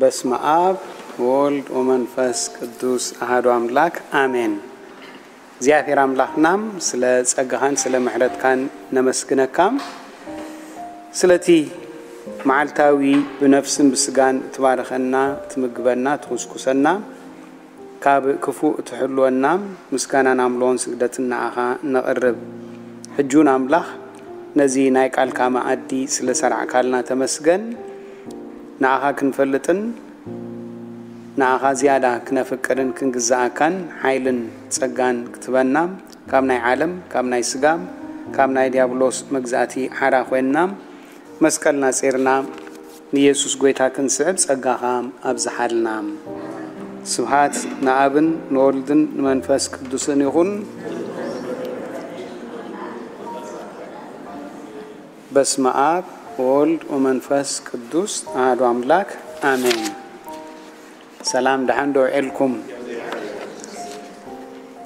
በስመ አብ ወወልድ ወመንፈስ ቅዱስ አሐዱ አምላክ አሜን። እግዚኣብሔር አምላክናም ስለ ጸጋኻን ስለ ምሕረትካን ነመስግነካም። ስለቲ መዓልታዊ ብነፍስን ብስጋን እትባርኸና፣ እትምግበና፣ ትኹስኩሰና፣ ካብ ክፉእ እትሕልወና ምስጋናን ኣምልኾን ስግደትን ንዓኻ ነቕርብ። ሕጂ እውን ኣምላኽ ነዚ ናይ ቃልካ መኣዲ ስለ ሰርዕካልና ተመስገን። ንዓኻ ክንፈልጥን ንዓኻ ዝያዳ ክነፍቅርን ክንግዝኣካን ሓይልን ጸጋን ክትበና ካብ ናይ ዓለም፣ ካብ ናይ ስጋ፣ ካብ ናይ ዲያብሎስ መግዛእቲ ሓራ ኮይንና መስቀልና ጺርና ንየሱስ ጎይታ ክንስዕብ ጸጋኻ ኣብዝሓልና። ስብሃት ንኣብን ንወልድን ንመንፈስ ቅዱስን ይኹን። በስመ አብ ወወልድ ወመንፈስ ቅዱስ አሐዱ አምላክ አሜን። ሰላም፣ ደሓን ዶ ውዒልኩም?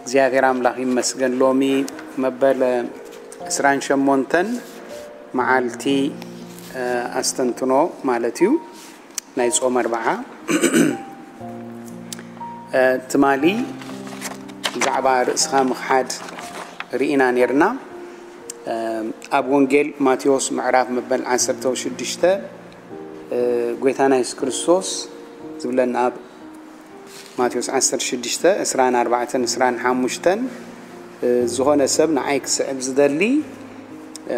እግዚኣብሔር ኣምላኽ ይመስገን። ሎሚ መበል ዕስራን ሸሞንተን መዓልቲ፣ እ፣ ኣስተንትኖ ማለት እዩ፣ ናይ ጾም ኣርብዓ። እ፣ ትማሊ ብዛዕባ ርእስኻ ምኽሓድ ርኢና ኔርና። እ፣ ኣብ ወንጌል ማቴዎስ ምዕራፍ መበል ዓሰርተ ሽዱሽተ፣ እ፣ ጎይታና የሱስ ክርስቶስ ዝብለና ኣብ ማቴዎስ ዓሰርተ ሽዱሽተ፣ ዕስራን ኣርባዕተን፣ ዕስራን ሓሙሽተን፣ እ፣ ዝኾነ ሰብ ንዓይ ክስዕብ ዝደሊ፣ እ፣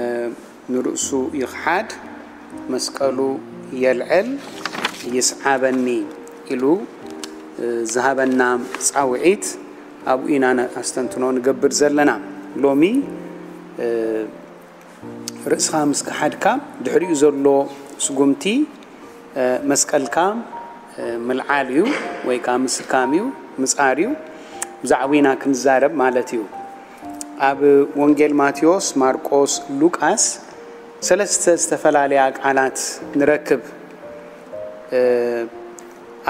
ንርእሱ ይኽሓድ፣ መስቀሉ የልዕል፣ ይስዓበኒ ኢሉ፣ እ፣ ዝሃበና ጻውዒት ኣብኡ ኢና ነ-፣ ኣስተንትኖ ንገብር ዘለና። ሎሚ፣ እ፣ ርእስኻ ምስ ከሓድካ፣ ድሕሪኡ ዘሎ ስጉምቲ፣ እ፣ መስቀልካ፣ እ፣ ምልዓል እዩ፣ ወይ ከኣ ምስካም እዩ፣ ምጻር እዩ። ብዛዕባ ኢና ክንዛረብ ማለት እዩ። ኣብ ወንጌል ማቴዎስ፣ ማርቆስ፣ ሉቃስ ሰለስተ ዝተፈላለያ ቃላት ንረክብ። እ፣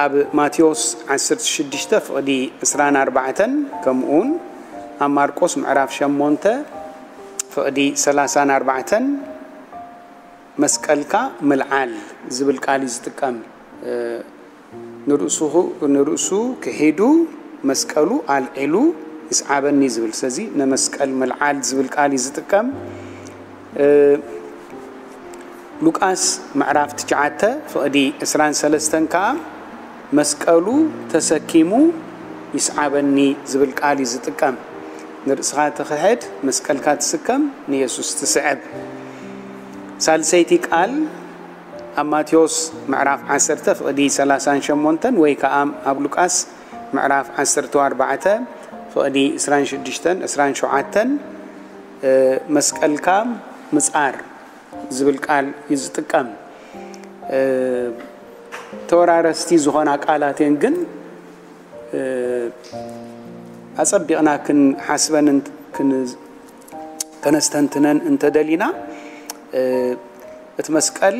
ኣብ ማቴዎስ ዓሰርተ ሽዱሽተ ፍቕዲ ዕስራን ኣርባዕተን፣ ከምኡውን ኣብ ማርቆስ ምዕራፍ ሸሞንተ ፍቕዲ ሰላሳን ኣርባዕተን፣ መስቀልካ ምልዓል ዝብል ቃል እዩ ዝጥቀም። እ፣ ንርእሱ፣ ንርእሱ ክሒዱ መስቀሉ ኣልዒሉ ይስዓበኒ ዝብል። ስለዚ ንመስቀል ምልዓል ዝብል ቃል እዩ ዝጥቀም። እ፣ ሉቃስ ምዕራፍ ትሽዓተ ፍቕዲ ዕስራን ሰለስተን ከኣ መስቀሉ ተሰኪሙ ይስዓበኒ ዝብል ቃል እዩ ዝጥቀም። ንርእስኻ ትኽሕድ፣ መስቀልካ ትስከም፣ ንየሱስ ትስዕብ። ሳልሰይቲ ቃል ኣብ ማቴዎስ ምዕራፍ ዓሰርተ ፍቕዲ ሰላሳን ሸሞንተን ወይ ከኣ ኣብ ሉቃስ ምዕራፍ ዓሰርተ ኣርባዕተ ፍቕዲ ዕስራን ሽዱሽተን፣ ዕስራን ሸውዓተን፣ እ፣ መስቀልካ ምጻር ዝብል ቃል እዩ ዝጥቀም። እ፣ ተወራረስቲ ዝኾና ቃላት እየን፣ ግን፣ እ፣ ኣጸቢቕና ክንሓስበን እንት-፣ ክን-፣ ከነስተንትነን እንተደሊና፣ እ፣ እቲ መስቀል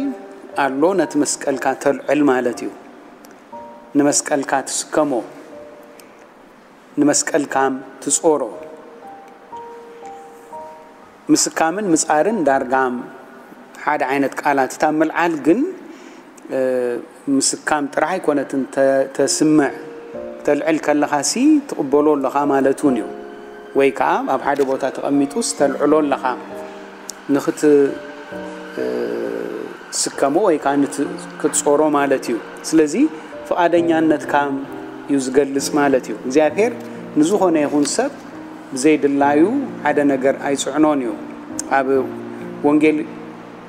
ኣሎ፣ ነቲ መስቀልካ ተልዕል ማለት እዩ። ንመስቀልካ ትስከሞ፣ ንመስቀልካም ትጾሮ። ምስካምን ምጻርን ዳርጋም ሓደ ዓይነት ቃላት። እታ ምልዓል ግን፣ እ፣ ምስካም ጥራሕ ኣይኮነትን ተ-፣ ተስምዕ። ተልዕል ከለኻሲ ትቕበሎ ኣለኻ ማለት እውን እዩ። ወይ ከኣ ኣብ ሓደ ቦታ ተቐሚጡስ ተልዕሎ ኣለኻ። ንኽት-፣ እ፣ ስከሞ ወይ ከኣ ንት-፣ ክትጾሮ ማለት እዩ። ስለዚ ፍቓደኛነትካ እዩ ዝገልጽ ማለት እዩ። እግዚኣብሔር ንዝኾነ ይኹን ሰብ ብዘይድላዩ ሓደ ነገር ኣይጽዕኖን እዩ። ኣብ ወንጌል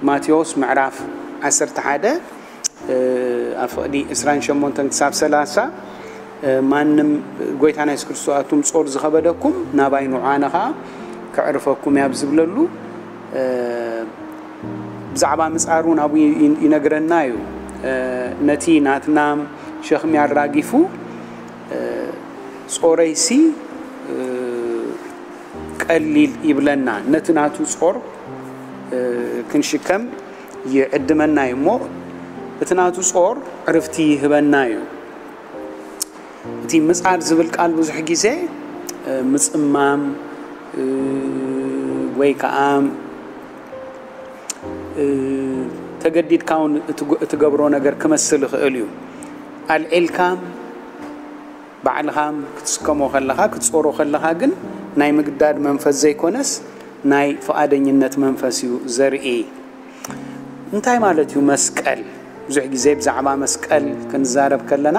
ማቴዎስ ምዕራፍ ዓሰርተ ሓደ፣ እ፣ ኣብ ፍቕዲ ዕስራን ሸሞንተን ክሳብ ሰላሳ፣ እ፣ ማንም፣ ጎይታና የሱስ ክርስቶስ፣ ኣቱም ጾር ዝኸበደኩም ናባይ ንዑ፣ ኣነ ኸኣ ከዕርፈኩም እየ ኣብ ዝብለሉ፣ እ፣ ብዛዕባ ምጻር እውን ኣብኡ ይ-፣ ይነግረና እዩ። እ፣ ነቲ ናትና ሸኽሚ ኣራጊፉ፣ እ፣ ጾረይሲ፣ እ፣ ቀሊል ይብለና። ነቲ ናቱ ጾር፣ እ፣ ክንሽከም ይዕድመና እዩ እሞ፣ እቲ ናቱ ጾር ዕርፍቲ ይህበና እዩ። እቲ ምጻር ዝብል ቃል ብዙሕ ግዜ፣ እ፣ ምጽማም፣ እ፣ ወይ ከኣ፣ እ፣ ተገዲድካ እውን እትግ-፣ እትገብሮ ነገር ክመስል ይኽእል እዩ። ኣልዒልካ ባዕልኻ ክትስከሞ ከለኻ ክትጾሮ ከለኻ ግን ናይ ምግዳድ መንፈስ ዘይኮነስ ናይ ፍቓደኝነት መንፈስ እዩ ዘርኢ። እንታይ ማለት እዩ መስቀል? ብዙሕ ግዜ ብዛዕባ መስቀል ክንዛረብ ከለና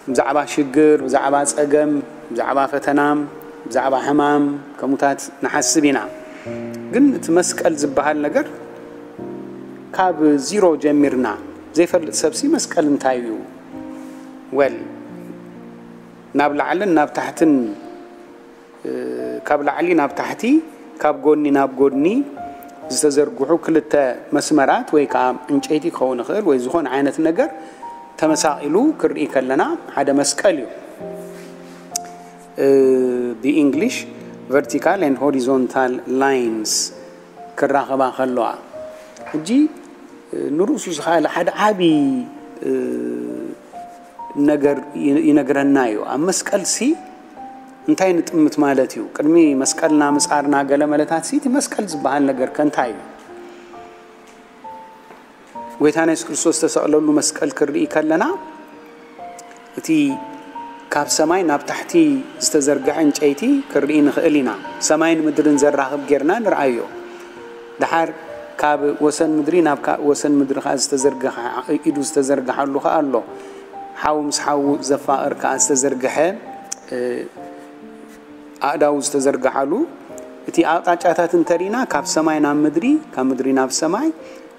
ብዛዕባ ሽግር፣ ብዛዕባ ጸገም፣ ብዛዕባ ፈተና፣ ብዛዕባ ሕማም ከሙታት ንሓስብ ኢና። ግን እቲ መስቀል ዝበሃል ነገር ካብ ዚሮ ጀሚርና ዘይፈልጥ ሰብሲ መስቀል እንታይ እዩ? ወል ናብ ላዕልን ናብ ታሕትን ካብ ላዕሊ ናብ ታሕቲ ካብ ጎኒ ናብ ጎኒ ዝተዘርግሑ ክልተ መስመራት ወይ ከዓ ዕንጨይቲ ክኸውን ይኽእል ወይ ዝኾነ ዓይነት ነገር ተመሳቒሉ ክርኢ ከለና ሓደ መስቀል እዩ። ብእንግሊሽ vertical and horizontal lines ክራኸባ ከለዋ ሕጂ ንርእሱ ዝኸኣለ ሓደ ዓቢ ነገር ይነግረና እዩ። ኣብ መስቀል ሲ እንታይ ንጥምት ማለት እዩ? ቅድሚ መስቀልና ምጻርና ገለ መለታት ሲ እቲ መስቀል ዝበሃል ነገር ከ እንታይ እዩ? ጎይታና የሱስ ክርስቶስ ዝተሰቕለሉ መስቀል ክንርኢ ከለና እቲ ካብ ሰማይ ናብ ታሕቲ ዝተዘርግሐ ዕንጨይቲ ክንርኢ ንኽእል ኢና። ሰማይን ምድርን ዘራኽብ ጌርና ንርኣዮ። ደሓር ካብ ወሰን ምድሪ ናብ ወሰን ምድሪ ከኣ ዝተዘርግሐ ኢዱ ዝተዘርግሓሉ ከኣ ኣሎ። ሓው ምስ ሓው ዘፋቕር ከኣ ዝተዘርግሐ ኣእዳው ዝተዘርግሓሉ እቲ ኣቕጣጫታት እንተሪና ካብ ሰማይ ናብ ምድሪ ካብ ምድሪ ናብ ሰማይ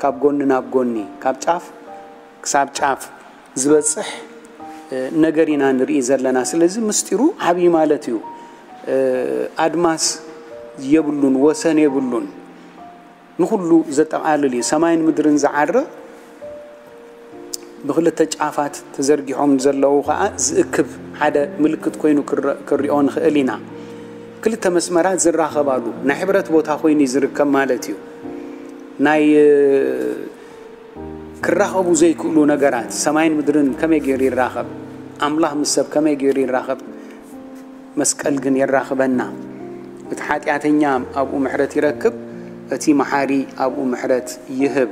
ካብ ጎኒ ናብ ጎኒ ካብ ጫፍ ክሳብ ጫፍ ዝበፅሕ ነገር ኢና ንርኢ ዘለና። ስለዚ ምስጢሩ ዓብዪ ማለት እዩ። ኣድማስ የብሉን፣ ወሰን የብሉን፣ ንኹሉ ዘጠቓልል እዩ። ሰማይን ምድርን ዝዓርቕ ብክልተ ጫፋት ተዘርጊሖም ዘለዉ ከዓ ዝእክብ ሓደ ምልክት ኮይኑ ክንሪኦ ንኽእል ኢና። ክልተ መስመራት ዝራኸባሉ ናይ ሕብረት ቦታ ኮይኑ እዩ ዝርከብ ማለት እዩ። ናይ ክራኸቡ ዘይክእሉ ነገራት ሰማይን ምድርን ከመይ ገይሩ ይራኸብ? ኣምላኽ ምስ ሰብ ከመይ ገይሩ ይራኸብ? መስቀል ግን የራኽበና። እቲ ሓጢኣተኛ ኣብኡ ምሕረት ይረክብ፣ እቲ መሓሪ ኣብኡ ምሕረት ይህብ።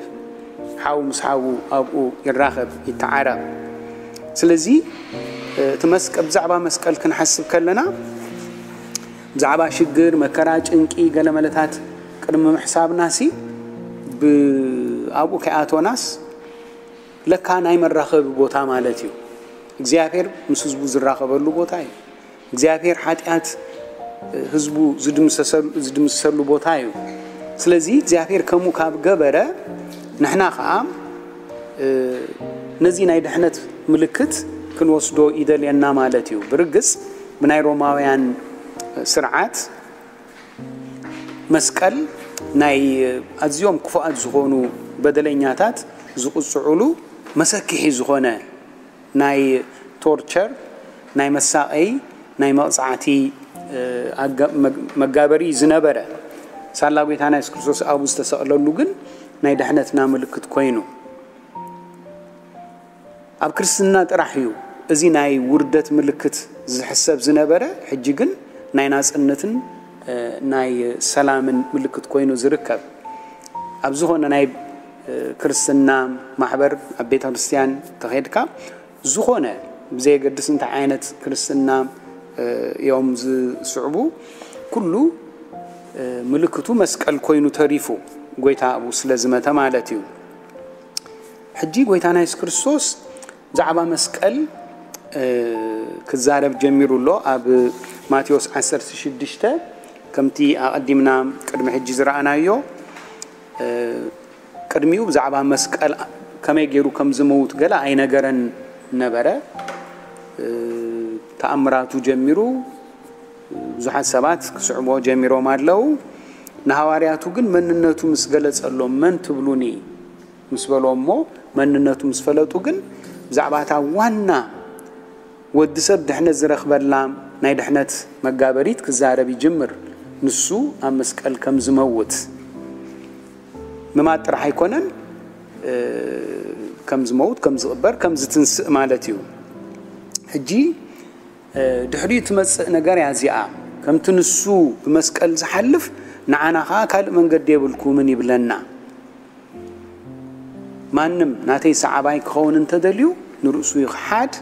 ሓው ምስ ሓዉ ኣብኡ ይራኸብ፣ ይተዓረቕ። ስለዚ እቲ መስቀ ብዛዕባ መስቀል ክንሓስብ ከለና ብዛዕባ ሽግር፣ መከራ፣ ጭንቂ፣ ገለ መለታት ቅድሚ ምሕሳብናሲ ኣብኡ ከይኣቶናስ ለካ ናይ መራኸቢ ቦታ ማለት እዩ። እግዚኣብሔር ምስ ህዝቡ ዝራኸበሉ ቦታ እዩ። እግዚኣብሔር ሓጢኣት ህዝቡ ዝድምሰሰሉ ቦታ እዩ። ስለዚ እግዚኣብሔር ከምኡ ካብ ገበረ ንሕና ከዓ ነዚ ናይ ድሕነት ምልክት ክንወስዶ ይደልየና ማለት እዩ። ብርግጽ ብናይ ሮማውያን ስርዓት መስቀል ናይ ኣዝዮም ክፉኣት ዝኾኑ በደለኛታት ዝቕፅዑሉ መሰክሒ ዝኾነ ናይ ቶርቸር ናይ መሳቐይ ናይ መቕፃዕቲ መጋበሪ ዝነበረ ሳላ ጎይታና የሱስ ክርስቶስ ኣብኡ ዝተሰቕለሉ ግን ናይ ድሕነትና ምልክት ኮይኑ ኣብ ክርስትና ጥራሕ እዩ እዚ ናይ ውርደት ምልክት ዝሕሰብ ዝነበረ፣ ሕጂ ግን ናይ ናጽነትን ናይ ሰላምን ምልክት ኮይኑ ዝርከብ። ኣብ ዝኾነ ናይ ክርስትና ማሕበር ኣብ ቤተ ክርስቲያን ተኸድካ ዝኾነ ብዘየገድስ እንታይ ዓይነት ክርስትና እዮም ዝስዕቡ ኩሉ ምልክቱ መስቀል ኮይኑ ተሪፉ ጎይታ ኣብኡ ስለ ዝመተ ማለት እዩ። ሕጂ ጎይታና የሱስ ክርስቶስ ብዛዕባ መስቀል ክዛረብ ጀሚሩ ኣሎ። ኣብ ማቴዎስ ዓሰርተ ሽዱሽተ ከምቲ ኣቐዲምና ቅድሚ ሕጂ ዝረኣናዮ ቅድሚኡ ብዛዕባ መስቀል ከመይ ገይሩ ከም ዝመውት ገለ ኣይነገረን ነበረ። ተኣምራቱ ጀሚሩ ብዙሓት ሰባት ክስዕብዎ ጀሚሮም ኣለዉ። ንሃዋርያቱ ግን መንነቱ ምስ ገለጸሎም መን ትብሉኒ ምስ በሎ እሞ መንነቱ ምስ ፈለጡ ግን ብዛዕባ እታ ዋና ወዲ ሰብ ድሕነት ዝረኽበላ ናይ ድሕነት መጋበሪት ክዛረብ ይጅምር። ንሱ ኣብ መስቀል ከም ዝመውት ምማት ጥራሕ ኣይኮነን፣ ከም ዝመውት፣ ከም ዝቕበር፣ ከም ዝትንስእ ማለት እዩ። ሕጂ ድሕሪኡ ትመጽእ ነገር እያ እዚኣ። ከምቲ ንሱ ብመስቀል ዝሓልፍ ንዓና ኸዓ ካልእ መንገዲ የብልኩምን ይብለና። ማንም ናተይ ሰዓባይ ክኸውን እንተደልዩ ንርእሱ ይኽሓድ፣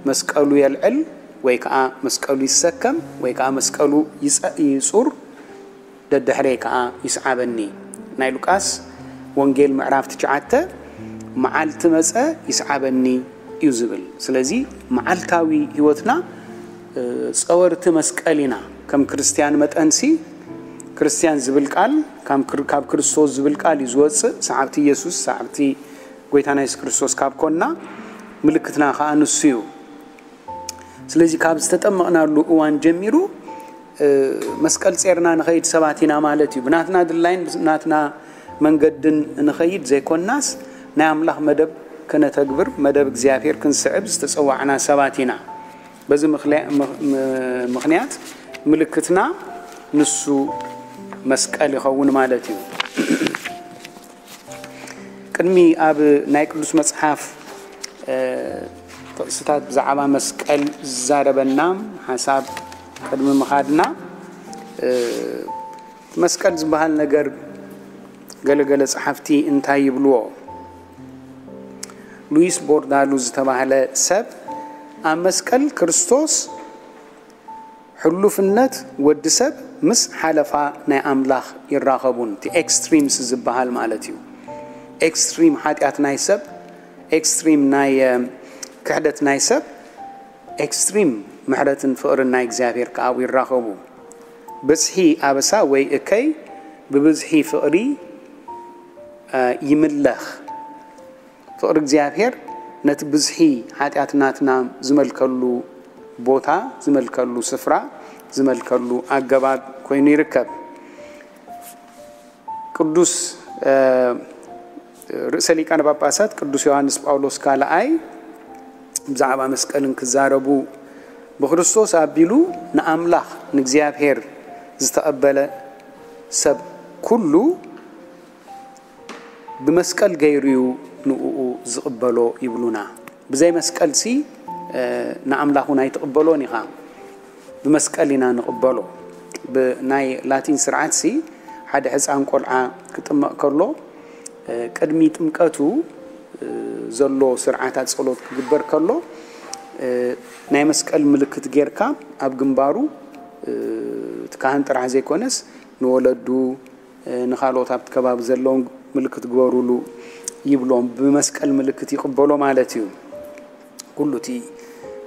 መስቀሉ የልዕል፣ ወይ ከዓ መስቀሉ ይሰከም፣ ወይ ከዓ መስቀሉ ይጸ-፣ ይጹር፣ ደድሕረይ ከዓ ይስዓበኒ። ናይ ሉቃስ ወንጌል ምዕራፍ ትሽዓተ፣ መዓልቲ መጸ ይስዓበኒ እዩ ዝብል። ስለዚ መዓልታዊ ህይወትና፣ እ፣ ጸወርቲ መስቀል ኢና። ከም ክርስትያን መጠንሲ፣ ክርስትያን ዝብል ቃል፣ ካብ ክር-፣ ካብ ክርስቶስ ዝብል ቃል እዩ ዝወጽእ። ሰዓብቲ ኢየሱስ፣ ሰዓብቲ ጎይታና የሱስ ክርስቶስ ካብ ኮንና፣ ምልክትና ከዓ ንሱ እዩ። ስለዚ ካብ ዝተጠመቕናሉ እዋን ጀሚሩ፣ እ፣ መስቀል ጼርና ንኸይድ ሰባት ኢና ማለት እዩ። ብናትና ድላይን ብናትና መንገድን ንኸይድ ዘይኮናስ፣ ናይ ኣምላኽ መደብ ከነተግብር፣ መደብ እግዚኣብሔር ክንስዕብ ዝተጸዋዕና ሰባት ኢና። በዚ ምኽልያ-፣ ምኽ-፣ ም-፣ ምኽንያት ምልክትና ንሱ መስቀል ይኸውን ማለት እዩ። ቅድሚ ኣብ ናይ ቅዱስ መጽሓፍ፣ እ፣ ጥቕስታት ብዛዕባ መስቀል ዝዛረበና ሓሳብ ቅድሚ ምኻድና፣ እ፣ መስቀል ዝበሃል ነገር ገለገለ ጸሓፍቲ እንታይ ይብልዎ? ሉዊስ ቦርዳሉ ዝተባህለ ሰብ ኣብ መስቀል ክርስቶስ ሕሉፍነት ወዲ ሰብ ምስ ሓለፋ ናይ ኣምላኽ ይራኸቡን፣ እቲ ኤክስትሪምስ ዝበሃል ማለት እዩ። ኤክስትሪም ሓጢኣት ናይ ሰብ፣ ኤክስትሪም ናይ፣ እ፣ ክሕደት ናይ ሰብ፣ ኤክስትሪም ምሕረትን ፍቕርን ናይ እግዚኣብሔር ከኣ ኣብኡ ይራኸቡ። ብዝሒ ኣበሳ ወይ እከይ ብብዝሒ ፍቕሪ፣ እ፣ ይምለኽ። ፍቕሪ እግዚኣብሔር ነቲ ብዝሒ ሓጢኣት ናትና ዝመልከሉ ቦታ፣ ዝመልከሉ ስፍራ፣ ዝመልከሉ ኣገባብ ኮይኑ ይርከብ። ቅዱስ፣ እ፣ ርእሰ ሊቃነ ጳጳሳት ቅዱስ ዮሃንስ ጳውሎስ ካልኣይ ብዛዕባ መስቀልን ክዛረቡ፣ ብክርስቶስ ኣቢሉ ንኣምላኽ ንእግዚኣብሔር ዝተቐበለ ሰብ ኩሉ ብመስቀል ገይሩ እዩ ንእኡ ዝቕበሎ ይብሉና። ብዘይ መስቀልሲ፣ እ፣ ንኣምላኽ እውን ኣይትቕበሎን ኢኻ። ብመስቀል ኢና ንቕበሎ። ብናይ ላቲን ስርዓትሲ ሓደ ሕፃን ቆልዓ ክጥመቕ ከሎ፣ እ፣ ቅድሚ ጥምቀቱ፣ እ፣ ዘሎ ስርዓታት ጸሎት ክግበር ከሎ፣ እ፣ ናይ መስቀል ምልክት ጌርካ ኣብ ግንባሩ፣ እ፣ እቲ ካህን ጥራሕ ዘይኮነስ ንወለዱ፣ እ፣ ንኻልኦት ኣብቲ ከባቢ ዘለውን ምልክት ግበሩሉ ይብሎም። ብመስቀል ምልክት ይቕበሎ ማለት እዩ። ኩሉ እቲ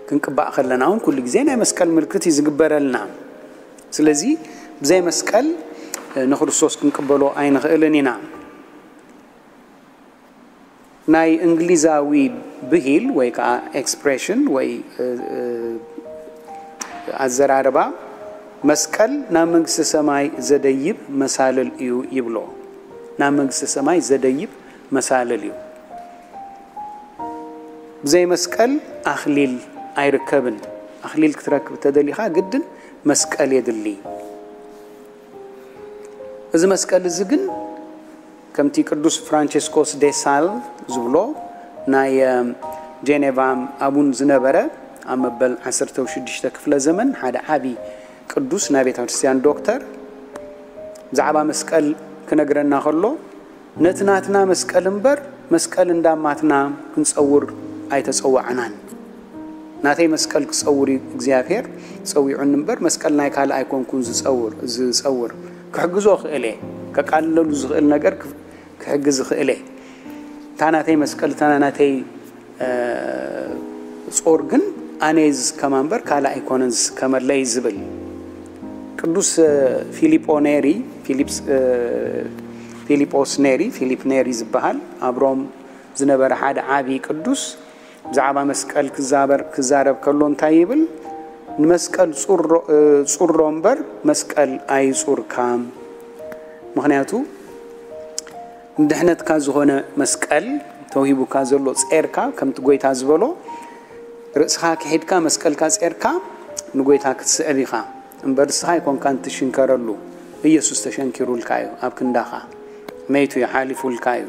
ክንቅባእ ከለና እውን ኩሉ ግዜ ናይ መስቀል ምልክት እዩ ዝግበረልና። ስለዚ ብዘይ መስቀል፣ እ፣ ንክርስቶስ ክንቅበሎ ኣይንኽእልን ኢና። ናይ እንግሊዛዊ ብሂል ወይ ከዓ ኤክስፕሬሽን ወይ፣ እ፣ እ፣ ኣዘራርባ፣ መስቀል ናብ መንግስተ ሰማይ ዘደይብ መሳልል እዩ ይብሎ። ናብ መንግስተ ሰማይ ዘደይብ መሳልል እዩ። ብዘይ መስቀል ኣኽሊል ኣይርከብን። ኣኽሊል ክትረክብ ተደሊኻ ግድን መስቀል የድሊ። እዚ መስቀል እዚ ግን ከምቲ ቅዱስ ፍራንቸስኮስ ዴ ሳል ዝብሎ ናይ፣ እ፣ ጄኔቫ ኣቡን ዝነበረ ኣብ መበል ዓሰርተ ሽዱሽተ ክፍለ ዘመን ሓደ ዓቢ ቅዱስ ናይ ቤተ ክርስቲያን ዶክተር ብዛዕባ መስቀል ክነግረና ከሎ፣ ነቲ ናትና መስቀል እምበር መስቀል እንዳማትና ክንጸውር ኣይተጸዋዕናን። ናተይ መስቀል ክጸውር እዩ እግዚኣብሔር ጸዊዑኒ እምበር መስቀል ናይ ካልእ ኣይኮንኩን ዝጸውር፣ ዝጸውር። ክሕግዞ እኽእል እየ። ከቃልለሉ ዝኽእል ነገር ክፍ-፣ ክሕግዝ እኽእል እየ። እታ ናተይ መስቀል፣ እታ ናተይ፣ እ፣ ጾር ግን ኣነ እየ ዝስከማ እምበር ካልእ ኣይኮነን ዝስከመለይ ዝብል። ቅዱስ፣ እ፣ ፊሊጶ ኔሪ፣ ፊሊፕስ-፣ እ፣ ፊሊጶስ ኔሪ፣ ፊሊፕ ኔሪ ዝበሃል ኣብ ሮም ዝነበረ ሓደ ዓቢ ቅዱስ ብዛዕባ መስቀል ክዛበር-፣ ክዛረብ ከሎ እንታይ ይብል? ንመስቀል ጹሮ-፣ እ፣ ጹሮ እምበር መስቀል ኣይጹርካ። ምኽንያቱ ንድሕነትካ ዝኾነ መስቀል ተውሂቡካ ዘሎ ጼርካ፣ ከምቲ ጎይታ ዝበሎ፣ ርእስኻ ክሒድካ መስቀልካ ጼርካ ንጎይታ ክትስዕብ ኢኻ። እምበር ንስኻ ኣይኮንካን ትሽንከረሉ፣ ኢየሱስ ተሸንኪሩልካ እዩ። ኣብ ክንዳኻ መይቱ እዩ፣ ሓሊፉልካ እዩ።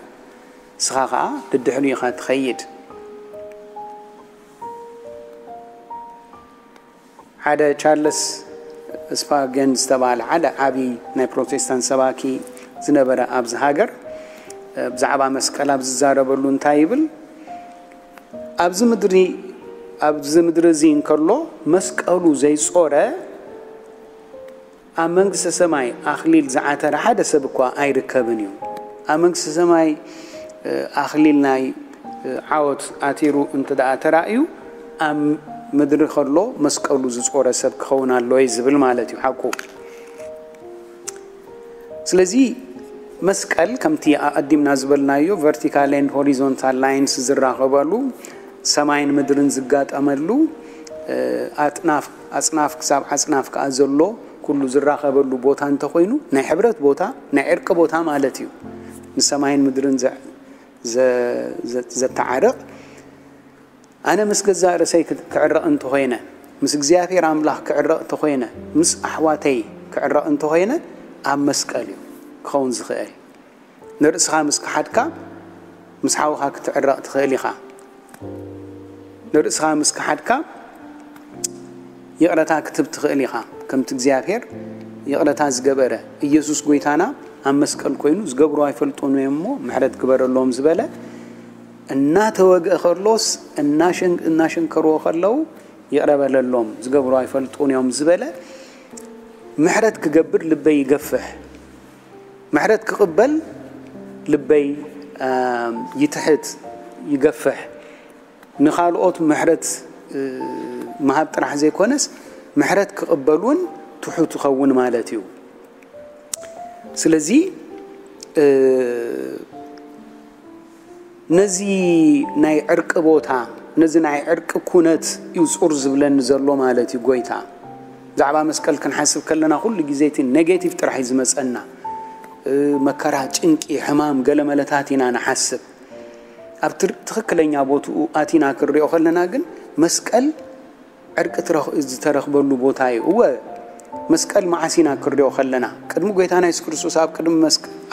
ንስኻ ኸኣ ደድሕሪኡ ኢኻ ትኸይድ። ሓደ ቻርለስ ስፓርገን ዝተባህለ ሓደ ዓቢ ናይ ፕሮቴስታንት ሰባኪ ዝነበረ ኣብዚ ሃገር፣ ብዛዕባ መስቀል ኣብ ዝዛረበሉ እንታይ ይብል? ኣብዚ ምድሪ ኣብዚ ምድሪ እዚ እንከሎ መስቀሉ ዘይጾረ ኣብ መንግስተ ሰማይ ኣኽሊል ዝዓተረ ሓደ ሰብ እኳ ኣይርከብን እዩ። ኣብ መንግስተ ሰማይ ኣኽሊል ናይ ዓወት ኣቲሩ እንተ ደኣ ተራእዩ ኣብ ምድሪ ከሎ መስቀሉ ዝጾረ ሰብ ክኸውን ኣለዎ እዩ ዝብል ማለት እዩ ሓቁ። ስለዚ መስቀል ከምቲ ኣቐዲምና ዝበልናዮ vertical and horizontal lines ዝራኸበሉ ሰማይን ምድርን ዝጋጠመሉ ኣጥናፍ ኣጽናፍ ክሳብ ኣጽናፍ ከኣ ዘሎ ኩሉ ዝራኸበሉ ቦታ እንተኾይኑ ናይ ሕብረት ቦታ ናይ ዕርቂ ቦታ ማለት እዩ። ንሰማይን ምድርን ዘ- ዘ- ዘ- ዘተዓርቕ ኣነ ምስ ገዛእ ርእሰይ ክዕረቕ እንተኾይነ ምስ እግዚኣብሔር ኣምላኽ ክዕረቕ እንተኾይነ ምስ ኣሕዋተይ ክዕረቕ እንተኾይነ ኣብ መስቀል እዩ ክኸውን ዝኽእል። ንርእስኻ ምስ ክሓድካ ምስ ሓውኻ ክትዕረቕ ትኽእል ኢኻ። ንርእስኻ ምስ ክሓድካ ይቕረታ ክትብ ትኽእል ኢኻ። ከምቲ እግዚኣብሔር ይቕረታ ዝገበረ ኢየሱስ ጎይታና ኣብ መስቀል ኮይኑ ዝገብሩ ኣይፈልጡን እዮም እሞ ምሕረት ግበረሎም ዝበለ እናተወግአ ከሎስ እናሸንከርዎ ከለዉ ይቕረ በለሎም ዝገብሩ ኣይፈልጡን እዮም ዝበለ ምሕረት ክገብር ልበይ ይገፍሕ። ምሕረት ክቕበል ልበይ ይትሕት ይገፍሕ። ንኻልኦት ምሕረት ምሃብ ጥራሕ ዘይኮነስ ምሕረት ክቕበል እውን ትሑት ይኸውን ማለት እዩ። ስለዚ ነዚ ናይ ዕርቂ ቦታ ነዚ ናይ ዕርቂ ኩነት እዩ ፁር ዝብለኒ ዘሎ ማለት እዩ ጎይታ። ብዛዕባ መስቀል ክንሓስብ ከለና ኩሉ ግዜ እቲ ኔጌቲቭ ጥራሕ እዩ ዝመፀና። መከራ፣ ጭንቂ፣ ሕማም፣ ገለመለታት ኢና ንሓስብ። ኣብ ትክክለኛ ቦትኡ ኣቲና ክንሪኦ ከለና ግን መስቀል ዕርቂ ዝተረኽበሉ ቦታ እዩ። እወ መስቀል መዓስ ኢና ክንሪኦ ከለና ቅድሚ ጎይታና የሱስ ክርስቶስ ኣብ ቅድሚ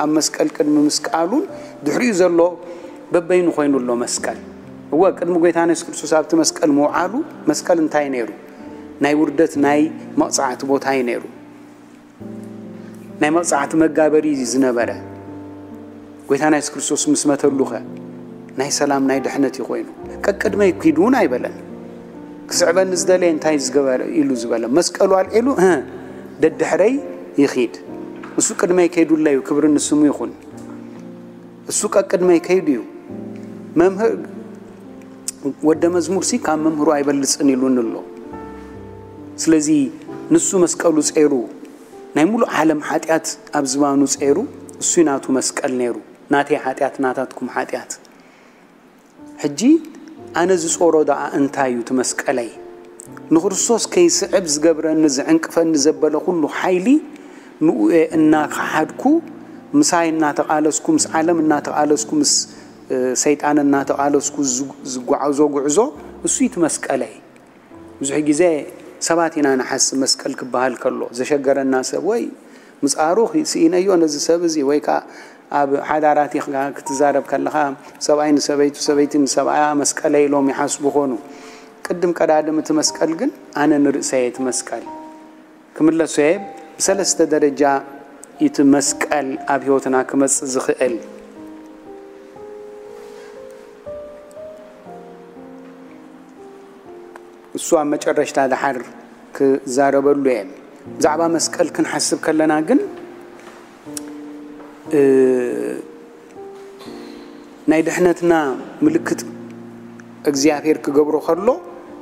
ኣብ መስቀል ቅድሚ ምስቃሉን ድሕሪኡ ዘሎ በበይኑ ኮይኑ ኣሎ መስቀል። እወ ቅድሚ ጎይታና የሱስ ክርስቶስ ኣብቲ መስቀል ምውዓሉ መስቀል እንታይ ነይሩ? ናይ ውርደት ናይ መቕፃዕቲ ቦታ እዩ ነይሩ። ናይ መቕፃዕቲ መጋበሪ እዩ ዝነበረ። ጎይታና የሱስ ክርስቶስ ምስ መተሉኸ ናይ ሰላም ናይ ድሕነት እዩ ኮይኑ። ቀቅድመይ ኪድ እውን ኣይበለን። ክስዕበኒ ዝደለየ እንታይ ዝገበረ ኢሉ ዝበለ መስቀሉ ኣልዒሉ እ ደድሕረይ ይኺድ። እሱ ቅድመይ ከይዱለዩ ክብሪ ንስሙ ይኹን። እሱ ቀቅድመይ ከይዱ እዩ። መምህር ወደ መዝሙር ሲ ካብ መምህሩ ኣይበልፅን ኢሉን ኣሎ። ስለዚ ንሱ መስቀሉ ፀይሩ ናይ ሙሉእ ዓለም ሓጢኣት ኣብ ዝባኑ ጸይሩ፣ እሱይ ናቱ መስቀል ነይሩ፣ ናተይ ሓጢኣት ናታትኩም ሓጢኣት። ሕጂ ኣነ ዝጾሮ ደኣ እንታይ እዩ እቲ መስቀለይ? ንክርስቶስ ከይስዕብ ዝገብረኒ ዝዕንቅፈኒ ዘበለ ኩሉ ሓይሊ ንኡ እየ እናኸሓድኩ ምሳይ እናተቓለስኩ ምስ ዓለም እናተቓለስኩ ምስ ሰይጣን እናተቓለስኩ ዝጓዓዞ ጉዕዞ እሱይ እቲ መስቀለይ። ብዙሕ ግዜ ሰባት ኢና ንሓስብ መስቀል ክበሃል ከሎ ዘሸገረና ሰብ ወይ ምጽኣሩ ስኢነዮ ነዚ ሰብ እዚ ወይ ከዓ ኣብ ሓዳራት ኢኻ ክትዛረብ ከለኻ ሰብኣይ ንሰበይቱ ሰበይቲ ንሰብኣያ መስቀለይ ኢሎም ይሓስቡ ኾኑ። ቅድም ቀዳድም እቲ መስቀል ግን ኣነ ንርእሰየ እቲ መስቀል ክምለሶ እየ። ብሰለስተ ደረጃ እቲ መስቀል ኣብ ህይወትና ክመጽእ ዝኽእል እሱ ኣብ መጨረሽታ ደሓር ክዛረበሉ እየ። ብዛዕባ መስቀል ክንሓስብ ከለና ግን ናይ ድሕነትና ምልክት እግዚኣብሔር ክገብሮ ከሎ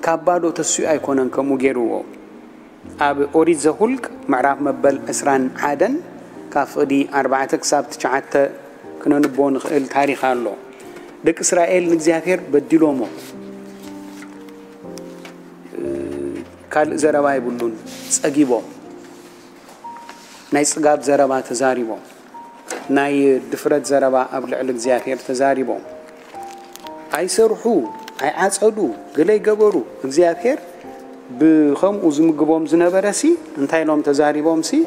ካብ ባዶ ተሲኡ ኣይኮነን ከምኡ ገይርዎ። ኣብ ኦሪት ዘሁልቅ ምዕራፍ መበል ዕስራን ሓደን ካብ ፍቕዲ ኣርባዕተ ክሳብ ትሽዓተ ክነንቦ ንኽእል ታሪኽ ኣሎ። ደቂ እስራኤል ንእግዚኣብሔር በዲሎሞ። ካልእ ዘረባ የብሉን። ጸጊቦም ናይ ጽጋብ ዘረባ ተዛሪቦም። ናይ ድፍረት ዘረባ ኣብ ልዕሊ እግዚኣብሔር ተዛሪቦም። ኣይሰርሑ፣ ኣይዓጸዱ፣ ገለ ይገበሩ። እግዚኣብሔር ብኸምኡ ዝምግቦም ዝነበረ ሲ እንታይ ኢሎም ተዛሪቦም ሲ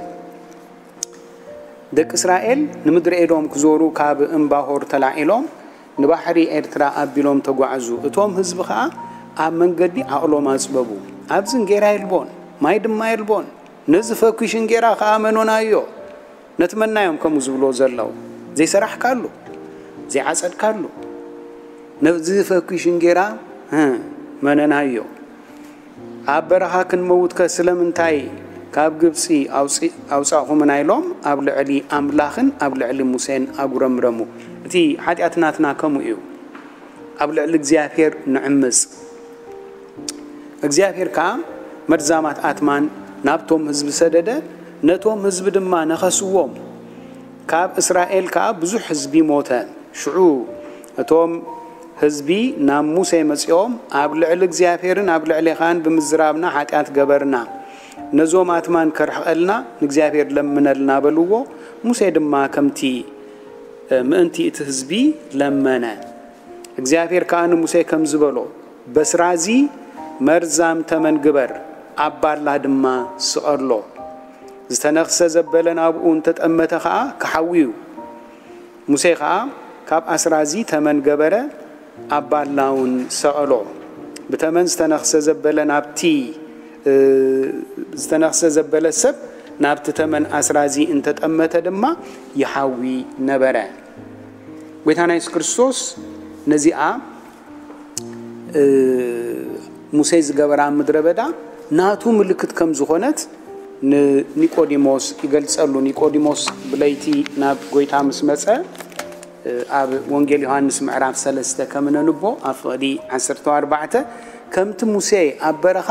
ደቂ እስራኤል ንምድሪ ኤዶም ክዞሩ ካብ እምባሆር ተላዒሎም ንባሕሪ ኤርትራ ኣቢሎም ተጓዕዙ። እቶም ህዝቢ ኸኣ ኣብ መንገዲ ዓቕሎም ኣጽበቡ። ኣብዚ እንጌራ የልቦን፣ ማይ ድማ የልቦን። ነዚ ፈኲሽ እንጌራ ኸኣ መኖናዮ። ነቲ መናዮም ከምኡ ዝብሎ ዘለዉ። ዘይሰራሕካሉ። ዘይዓጸድካሉ። ነዚ ፈኲሽን ጌራ፣ እ፣ መነናዮ። ኣብ በረኻ ክንመውትከ ስለምንታይ ካብ ግብጺ ኣውጽ-፣ ኣውጻእኹምና? ኢሎም ኣብ ልዕሊ ኣምላኽን ኣብ ልዕሊ ሙሴን ኣጉረምረሙ። እቲ ሓጢኣት ናትና ከምኡ እዩ። ኣብ ልዕሊ እግዚኣብሔር ንዕምጽ። እግዚኣብሔር ከኣ መርዛማት ኣትማን ናብቶም ህዝቢ ሰደደ፣ ነቶም ህዝቢ ድማ ነኸስዎም። ካብ እስራኤል ከኣ ብዙሕ ህዝቢ ሞተ። ሽዑ እቶም ህዝቢ ናብ ሙሴ መጺኦም፣ ኣብ ልዕሊ እግዚኣብሔርን ኣብ ልዕሌኻን ብምዝራብና ሓጢኣት ገበርና። ነዞም ኣትማን ከርሕቐልና ንእግዚኣብሔር ለምነልና በልዎ። ሙሴ ድማ ከምቲ፣ እ፣ ምእንቲ እቲ ህዝቢ ለመነ። እግዚኣብሔር ከኣ ንሙሴ ከምዚ በሎ፣ በስራዚ መርዛም ተመን ግበር፣ ኣብ ባላ ድማ ስቐሎ። ዝተነኽሰ ዘበለ ናብኡ እንተጠመተ ኸኣ ክሓዊ እዩ። ሙሴ ኸኣ ካብ ኣስራዚ ተመን ገበረ፣ ኣብ ባላ እውን ሰቐሎ። ብተመን ዝተነኽሰ ዘበለ ናብቲ፣ እ፣ ዝተነኽሰ ዘበለ ሰብ ናብቲ ተመን ኣስራዚ እንተጠመተ ድማ ይሓዊ ነበረ። ጎይታና የሱስ ክርስቶስ ነዚኣ፣ እ፣ ሙሴ ዝገበራ ኣብ ምድረ በዳ ናቱ ምልክት ከም ዝኾነት ንኒቆዲሞስ ይገልጸሉ። ኒቆዲሞስ ብለይቲ ናብ ጎይታ ምስ መጸ፣ እ፣ ኣብ ወንጌል ዮሃንስ ምዕራፍ ሰለስተ ከም ነንቦ ኣብ ፍቕዲ ዓሰርተ ኣርባዕተ፣ ከምቲ ሙሴ ኣብ በረኻ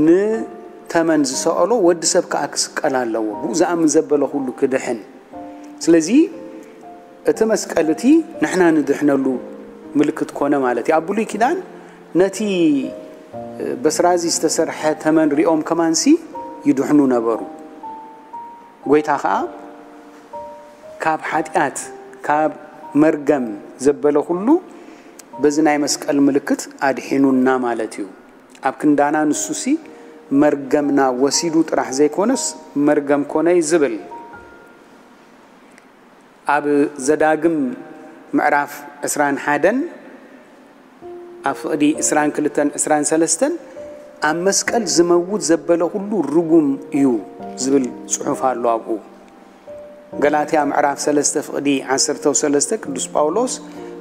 ንተመን ዝሰቐሎ ወዲ ሰብ ከኣ ክስቀል ኣለዎ፣ ብኡ ዝኣምን ዘበለ ኩሉ ክድሕን። ስለዚ እቲ መስቀል እቲ ንሕና ንድሕነሉ ምልክት ኮነ ማለት እዩ። ኣብ ብሉይ ኪዳን ነቲ በስራዚ ዝተሰርሐ ተመን ሪኦም ከማንሲ ይድሕኑ ነበሩ። ጎይታ ኸኣ ካብ ሓጢኣት፣ ካብ መርገም ዘበለ ኩሉ በዚ ናይ መስቀል ምልክት ኣድሒኑና ማለት እዩ። ኣብ ክንዳና ንሱሲ መርገምና ወሲዱ ጥራሕ ዘይኮነስ መርገም ኮነ እዩ ዝብል። ኣብ ዘዳግም ምዕራፍ ዕስራን ሓደን ኣብ ፍቕዲ ዕስራን ክልተን ዕስራን ሰለስተን ኣብ መስቀል ዝመውት ዘበለ ኩሉ ርጉም እዩ ዝብል ጽሑፍ ኣሎ ኣብኡ። ገላትያ ምዕራፍ ሰለስተ ፍቕዲ ዓሰርተ ሰለስተ ቅዱስ ጳውሎስ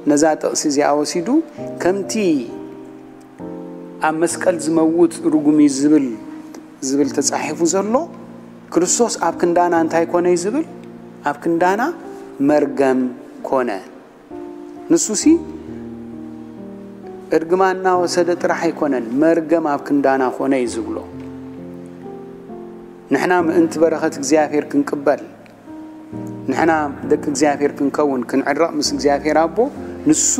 ነዛ ጥቕሲ እዚኣ ወሲዱ፣ ከምቲ ኣብ መስቀል ዝመውት ርጉም እዩ ዝብል፣ ዝብል ተጻሒፉ ዘሎ፣ ክርስቶስ ኣብ ክንዳና እንታይ ኮነ እዩ ዝብል? ኣብ ክንዳና መርገም ኮነ። ንሱሲ እርግማን እናወሰደ ጥራሕ ኣይኮነን፣ መርገም ኣብ ክንዳና ኮነ እዩ ዝብሎ። ንሕና ምእንቲ በረኸት እግዚኣብሔር ክንቅበል፣ ንሕና ደቂ እግዚኣብሔር ክንከውን፣ ክንዕረቕ ምስ እግዚኣብሔር ኣቦ፣ ንሱ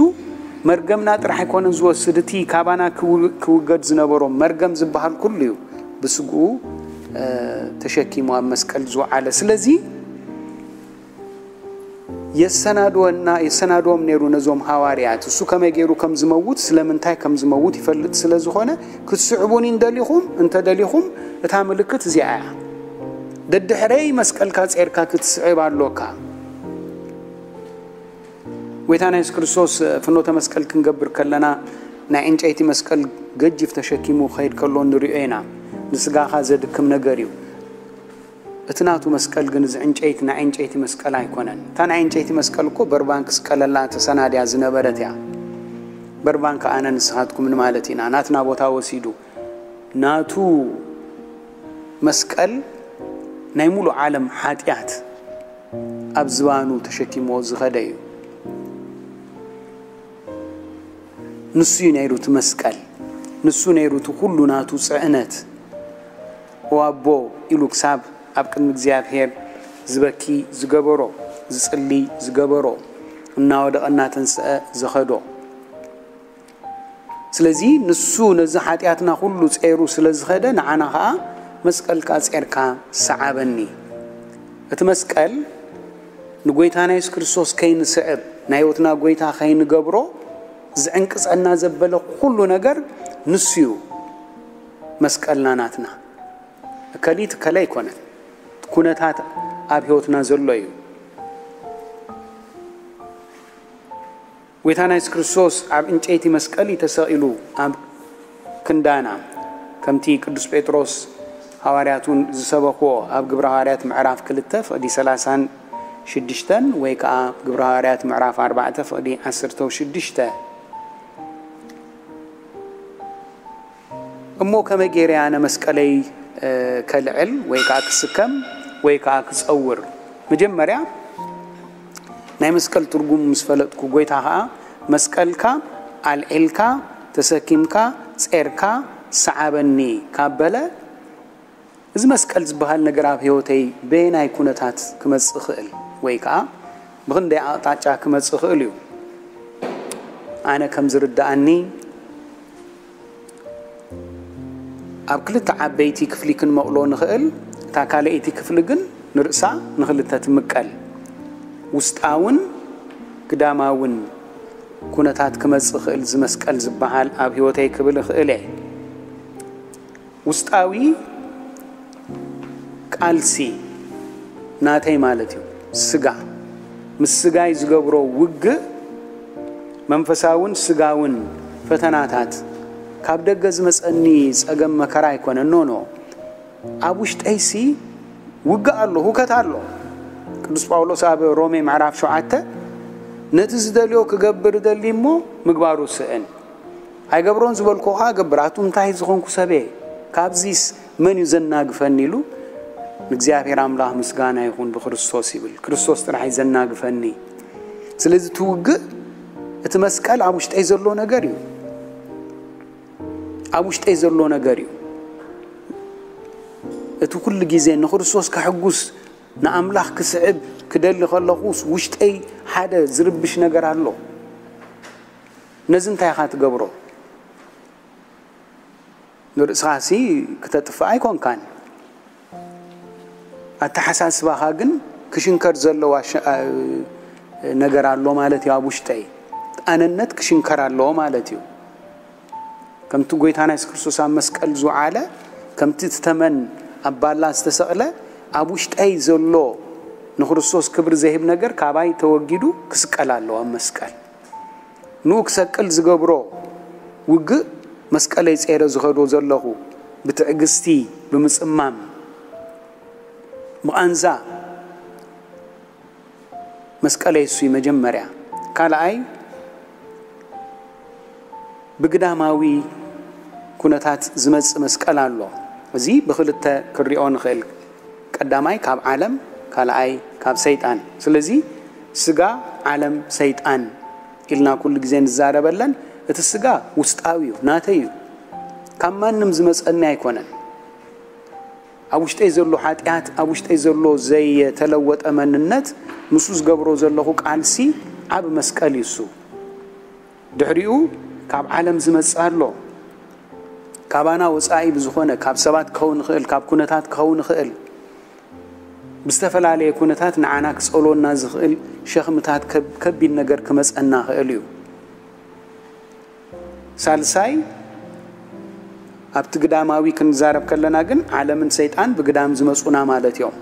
መርገምና ጥራሕ ኣይኮነን ዝወስድ፣ እቲ ካባና ክው-፣ ክውገድ ዝነበሮ መርገም ዝበሃል ኩሉ እዩ ብስግኡ፣ እ፣ ተሸኪሙ ኣብ መስቀል ዝወዓለ። ስለዚ የሰናድወና፣ የሰናድዎም ነይሩ ነዞም ሃዋርያት። እሱ ከመይ ገይሩ ከም ዝመውት፣ ስለምንታይ ከም ዝመውት ይፈልጥ ስለ ዝኾነ፣ ክትስዕቡኒ እንደሊኹም፣ እንተ ደሊኹም፣ እታ ምልክት እዚኣ እያ። ደድሕረይ መስቀልካ ጼርካ ክትስዕብ ኣሎካ። ጎይታና የሱስ ክርስቶስ ፍኖተ መስቀል ክንገብር ከለና፣ ናይ ዕንጨይቲ መስቀል ገጅፍ ተሸኪሙ ክኸይድ ከሎ ንሪኦ ኢና። ንስጋኻ ዘድክም ነገር እዩ። እቲ ናቱ መስቀል ግን እዚ ዕንጨይቲ ናይ ዕንጨይቲ መስቀል ኣይኮነን። እታ ናይ ዕንጨይቲ መስቀል እኮ በርባን ክስቀለላ ተሰናድያ ዝነበረት እያ። በርባን ከኣ ኣነ ንስኻትኩም ንማለት ኢና። ናትና ቦታ ወሲዱ ናቱ መስቀል ናይ ሙሉእ ዓለም ሓጢኣት ኣብ ዝባኑ ተሸኪምዎ ዝኸደ እዩ። ንሱ እዩ ነይሩ እቲ መስቀል። ንሱ ነይሩ እቲ ኩሉ ናቱ ጽዕነት። "ኦ ኣቦ" ኢሉ ክሳብ ኣብ ቅድሚ እግዚኣብሔር ዝበኪ ዝገበሮ፣ ዝጽሊ ዝገበሮ፣ እናወደቐ እናተንስአ ዝኸዶ። ስለዚ ንሱ ነዚ ሓጢኣትና ኩሉ ጼሩ ስለ ዝኸደ፣ ንዓና ኸኣ መስቀልካ ጼርካ ሰዓበኒ። እቲ መስቀል ንጎይታና የሱስ ክርስቶስ ከይንስዕብ፣ ናይ ህይወትና ጎይታ ከይንገብሮ ዝዕንቅጸና ዘበለ ኩሉ ነገር ንሱ እዩ። መስቀልና ናትና። እከሊት እከለ ኣይኮነን። ኩነታት ኣብ ህይወትና ዘሎ እዩ። ጎይታና የሱስ ክርስቶስ ኣብ ዕንጨይቲ መስቀል እዩ ተሰቒሉ ኣብ ክንዳና። ከምቲ ቅዱስ ጴጥሮስ ሃዋርያት እውን ዝሰበኽዎ ኣብ ግብረ ሃዋርያት ምዕራፍ ክልተ ፍቕዲ ሰላሳን ሽዱሽተን ወይ ከዓ ግብረ ሃዋርያት ምዕራፍ ኣርባዕተ ፍቕዲ ዓሰርተ ሽዱሽተ። እሞ ከመይ ገይረ ኣነ መስቀለይ ከልዕል ወይ ከዓ ክስከም ወይ ከዓ ክፀውር? መጀመርያ ናይ መስቀል ትርጉም ምስ ፈለጥኩ፣ ጎይታ ከዓ መስቀልካ ኣልዒልካ ተሰኪምካ ጼርካ ሰዓበኒ ካብ በለ፣ እዚ መስቀል ዝበሃል ነገር ኣብ ህይወተይ በየናይ ኩነታት ክመጽእ ይኽእል ወይ ከዓ ብኽንደይ ኣቕጣጫ ክመጽእ ይኽእል እዩ? ኣነ ከም ዝርድኣኒ፣ ኣብ ክልተ ዓበይቲ ክፍሊ ክንመቕሎ ንኽእል። እታ ካልኣይቲ ክፍሊ ግን ንርእሳ ንኽልተ ትምቀል። ውስጣውን ግዳማውን ኩነታት ክመጽእ ይኽእል እዚ መስቀል ዝበሃል ኣብ ህይወተይ ክብል እኽእል እየ። ውስጣዊ ቃልሲ ናተይ ማለት እዩ። ስጋ ምስ ስጋይ ዝገብሮ ውግእ፣ መንፈሳውን ስጋውን ፈተናታት፣ ካብ ደገ ዝመጸኒ ጸገም መከራ ኣይኮነን። ኖ ኖ፣ ኣብ ውሽጠይሲ ውግእ ኣሎ፣ ሁከት ኣሎ። ቅዱስ ጳውሎስ ኣብ ሮሜ ምዕራፍ ሸውዓተ፣ ነቲ ዝደልዮ ክገብር እደሊ እሞ ምግባሩ ስእን፣ ኣይገብሮን ዝበልኩ ኸዓ እገብር። ኣቱም እንታይ ዝኾንኩ ሰብ እየ? ካብዚስ መን እዩ ዘናግፈኒ? ኢሉ ንእግዚኣብሔር ኣምላኽ ምስጋና ይኹን ብክርስቶስ ይብል። ክርስቶስ ጥራሕ እዩ ዘናግፈኒ። ስለዚ እቲ ውግእ፣ እቲ መስቀል ኣብ ውሽጠይ ዘሎ ነገር እዩ። ኣብ ውሽጠይ ዘሎ ነገር እዩ። እቲ ኩሉ ግዜ ንክርስቶስ ከሕጉስ፣ ንኣምላኽ ክስዕብ ክደሊ ከለኹስ ውሽጠይ ሓደ ዝርብሽ ነገር ኣሎ። ነዚ እንታይ ኢኻ ትገብሮ? ንርእስኻሲ ክተጥፍእ ኣይኮንካን። ኣተሓሳስባኻ ግን ክሽንከር ዘለዎ ኣሸ-፣ ኣ-፣ ነገር ኣሎ ማለት እዩ። ኣብ ውሽጠይ ኣነነት ክሽንከር ኣለዎ ማለት እዩ። ከምቲ ጎይታና የሱስ ክርስቶስ ኣብ መስቀል ዝወዓለ፣ ከምቲ እቲ ተመን ኣብ ባላ ዝተሰቕለ፣ ኣብ ውሽጠይ ዘሎ ንክርስቶስ ክብሪ ዘህብ ነገር ካባይ ተወጊዱ ክስቀል ኣለዎ ኣብ መስቀል። ንኡ ክሰቅል ዝገብሮ ውግእ፣ መስቀለይ ጼረ ዝኸዶ ዘለኹ ብትዕግስቲ፣ ብምጽማም፣ ብቓንዛ መስቀለይ እሱ እዩ መጀመርያ። ካልኣይ፣ ብግዳማዊ ኩነታት ዝመጽእ መስቀል ኣሎ። እዚ ብኽልተ ክንሪኦ ንኽእል። ቀዳማይ ካብ ዓለም፣ ካልኣይ ካብ ሰይጣን። ስለዚ ስጋ፣ ዓለም፣ ሰይጣን ኢልና ኩሉ ግዜ ንዛረበለን። እቲ ስጋ ውስጣዊ እዩ፣ ናተይ እዩ። ካብ ማንም ዝመጸኒ ኣይኮነን። ኣብ ውሽጠይ ዘሎ ሓጢኣት፣ ኣብ ውሽጠይ ዘሎ ዘይተለወጠ መንነት፣ ንሱ ዝገብሮ ዘለኹ ቃልሲ ዓቢ መስቀል እዩ እሱ። ድሕሪኡ ካብ ዓለም ዝመጽእ ኣሎ። ካባና ወጻኢ ብዝኾነ፣ ካብ ሰባት ክኸውን ይኽእል፣ ካብ ኩነታት ክኸውን ይኽእል፣ ብዝተፈላለየ ኩነታት ንዓና ክጸልወና ዝኽእል ሸኽምታት፣ ከብ-፣ ከቢድ ነገር ክመጸና ይኽእል እዩ። ሳልሳይ፣ ኣብቲ ግዳማዊ ክንዛረብ ከለና ግን ዓለምን ሰይጣን ብግዳም ዝመጹና ማለት እዮም።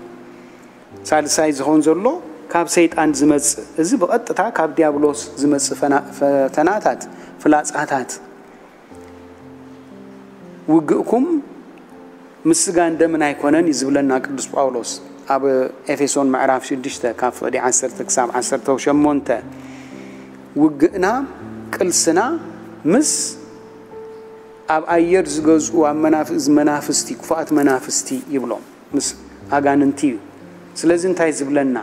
ሳልሳይ ዝኾን ዘሎ ካብ ሰይጣን ዝመጽእ፣ እዚ ብቐጥታ ካብ ዲያብሎስ ዝመጽእ ፈና-፣ ፈተናታት፣ ፍላጻታት፣ ውግእኩም ምስ ስጋን ደምን ኣይኮነን እዩ ዝብለና ቅዱስ ጳውሎስ ኣብ ኤፌሶን ምዕራፍ ሽዱሽተ ካብ ፍቕዲ ዓሰርተ ክሳብ ዓሰርተ ሸሞንተ። ውግእና፣ ቅልስና ምስ ኣብ ኣየር ዝገዝኡ ኣብ መናፍ-፣ መናፍስቲ፣ ክፉኣት መናፍስቲ ይብሎም፣ ምስ ኣጋንንቲ እዩ። ስለዚ እንታይ ዝብለና?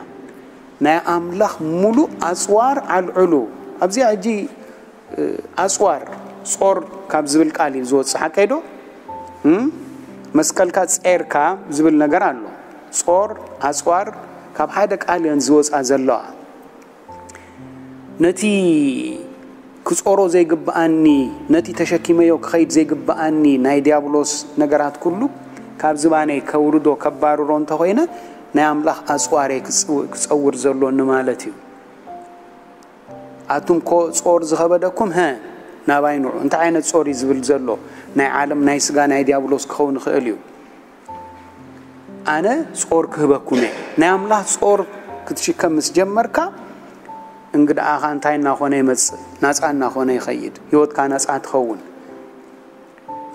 ናይ ኣምላኽ ሙሉእ ኣጽዋር ኣልዕሉ። ኣብዚኣ ሕጂ፣ እ፣ ኣጽዋር፣ ጾር ካብ ዝብል ቃል እዩ ዝወጽእ፣ ሓቀይ ዶ? እም? መስቀልካ ጼርካ ዝብል ነገር ኣሎ። ጾር፣ ኣጽዋር ካብ ሓደ ቃል እየን ዝወጻ ዘለዋ። ነቲ ክጾሮ ዘይግብኣኒ፣ ነቲ ተሸኪመዮ ክኸይድ ዘይግብኣኒ ናይ ዲያብሎስ ነገራት ኩሉ ካብ ዝባነይ ከውርዶ፣ ከባርሮ እንተኾይነ፣ ናይ ኣምላኽ ኣጽዋር እየ ክጽው-፣ ክጸውር ዘሎኒ ማለት እዩ። ኣቱም ኮ ጾር ዝኸበደኩም፣ ሀ፣ ናባይ ንዑ። እንታይ ዓይነት ጾር እዩ ዝብል ዘሎ? ናይ ዓለም፣ ናይ ስጋ፣ ናይ ዲያብሎስ ክኸውን ይኽእል እዩ። ኣነ ጾር ክህበኩም እየ። ናይ ኣምላኽ ጾር ክትሽከም ምስ ጀመርካ፣ እንግድኣኻ እንታይ እናኾነ ይመጽእ? ናጻ እናኾነ ይኸይድ። ህይወትካ ናጻ ትኸውን።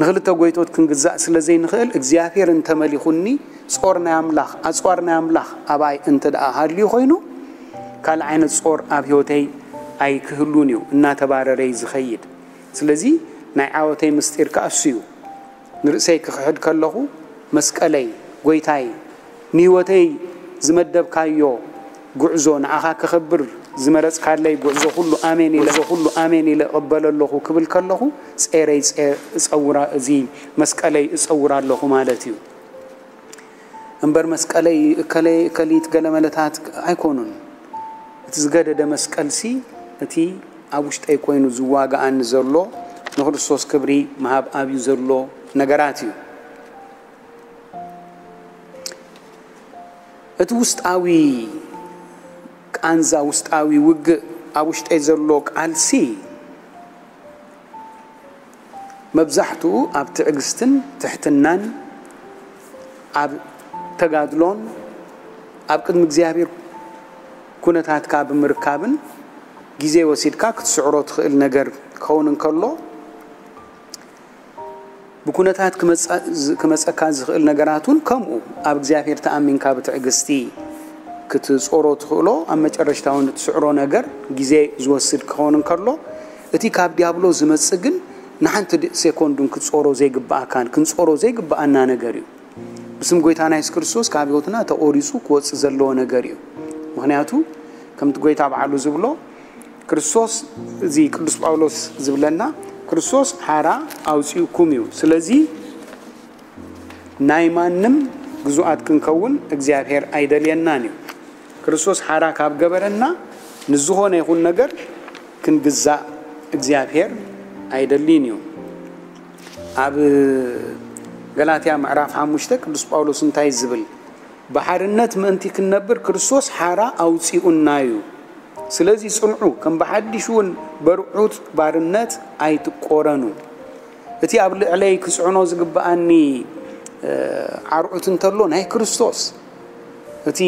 ንኽልተ ጎይቶት ክንግዛእ ስለ ዘይንኽእል፣ እግዚኣብሔር እንተመሊኹኒ፣ ጾር ናይ ኣምላኽ፣ ኣጽዋር ናይ ኣምላኽ ኣባይ እንተ ደኣ ሃልዩ ኮይኑ፣ ካልእ ዓይነት ጾር ኣብ ህይወተይ ኣይክህሉን እዩ እናተባረረ እዩ ዝኸይድ። ስለዚ ናይ ዓወተይ ምስጢር ከኣ እሱ እዩ። ንርእሰይ ክኽሕድ ከለኹ መስቀለይ፣ ጎይታይ፣ ንህይወተይ ዝመደብካዮ ጉዕዞ ንኣኻ ከኽብር ዝመረጽካለይ ጉዕዞ ኩሉ ኣሜን ኢለ ኩሉ ኣሜን ኢለ እቕበሎ ኣለኹ ክብል ከለኹ ጼረይ ጼ- እጸውራ እዚ መስቀለይ እጸውራ ኣለኹ ማለት እዩ። እምበር መስቀለይ እከለይ እከሊት ገለ መለታት ኣይኮኑን። እቲ ዝገደደ መስቀልሲ እቲ ኣብ ውሽጠይ ኮይኑ ዝዋግኣኒ ዘሎ ንክርስቶስ ክብሪ ምሃብ ኣብዩ ዘሎ ነገራት እዩ። እቲ ውስጣዊ ቃንዛ ውስጣዊ ውግእ ኣብ ውሽጠይ ዘሎ ቃልሲ መብዛሕትኡ ኣብ ትዕግስትን ትሕትናን ኣብ ተጋድሎን ኣብ ቅድሚ እግዚኣብሔር ኩነታትካ ብምርካብን ግዜ ወሲድካ ክትስዕሮ ትኽእል ነገር ክኸውን እንከሎ ብኩነታት ክመጸካ ዝኽእል ነገራት እውን ከምኡ ኣብ እግዚኣብሔር ተኣሚንካ ብትዕግስቲ ክትጾሮ ትኽእሎ ኣብ መጨረሽታ እውን እትስዕሮ ነገር ግዜ ዝወስድ ክኸውን እንከሎ እቲ ካብ ዲያብሎ ዝመጽእ ግን ንሓንቲ ሴኮንዱን ክትጾሮ ዘይግብኣካን ክንጾሮ ዘይግብኣና ነገር እዩ። ብስም ጎይታና የሱስ ክርስቶስ ካብ ህይወትና ተቖሪጹ ክወጽእ ዘለዎ ነገር እዩ። ምኽንያቱ ከምቲ ጎይታ በዓሉ ዝብሎ ክርስቶስ እዚ ቅዱስ ጳውሎስ ዝብለና ክርስቶስ ሓራ ኣውፂኡኩም እዩ። ስለዚ ናይ ማንም ግዙኣት ክንከውን እግዚኣብሔር ኣይደልየናን እዩ። ክርስቶስ ሓራ ካብ ገበረና ንዝኾነ ይኹን ነገር ክንግዛእ እግዚኣብሔር ኣይደልይን እዩ። ኣብ ገላትያ ምዕራፍ ሓሙሽተ ቅዱስ ጳውሎስ እንታይ ዝብል ብሓርነት ምእንቲ ክንነብር ክርስቶስ ሓራ ኣውፂኡና እዩ። ስለዚ ጽንዑ፣ ከም ብሓድሽ እውን በርዑት ባርነት ኣይትቆረኑ። እቲ ኣብ ልዕለይ ክጽዕኖ ዝግብኣኒ ዓርዑት እንተሎ ናይ ክርስቶስ እቲ